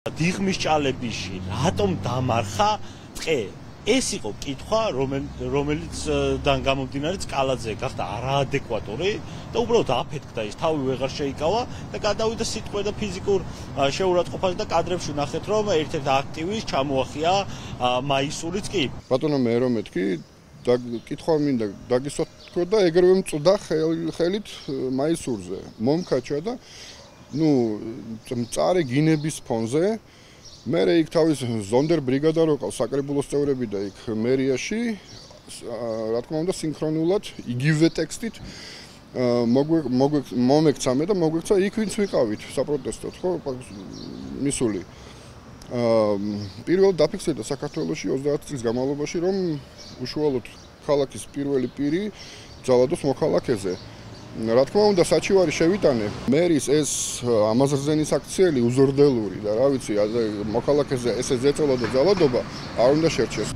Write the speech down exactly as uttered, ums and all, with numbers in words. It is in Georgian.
დიღმის ჭალებიში რატომ დამარხა ტყე? ეს იყო კითხვა, რომელიც გამომდინარე სკალაძე გახდა არაადეკვატური და უბრალოდ აფეთქდა ის, თავი ვეღარ შეიკავა და გადავიდა სიტყვე და ფიზიკურ შეურაცხყოფაზე და კადრებში ნახეთ, რომ ერთ-ერთი აქტივის ჩამოახია მაისურიც კი. ბატონო მე რომ მეთქი, კითხვა მინდა დაგისვათქო და ეგრევე მწვდა ხელით მაისურზე. მომქაჩა და ნუ მწარე გინების ფონზე მე იქ თავის ზონდერ ბრიგადა რო ყავს საკრებულოს წევრები და იქ მერიაში რა თქმა უნდა სინქრონულად იგივე ტექსტით მომექცამე და მოგვექცა იქ ვინც ვიყავით საპროტესტოდ ხო მისული პირველად დაფიქსირდა საქართველოში ოცდაათი წლის განმავლობაში რომ უშუალოდ ქალაქის პირველი პირი ძალადოს მოქალაქეზე რა თქმა უნდა საჩივარი შევიტანე მერის ეს ამაზრზენის აქციელი უზორდელური და რა ვიცი მოქალაქეზე ესე ზეწოლა და ძალადობა არ უნდა შერჩეს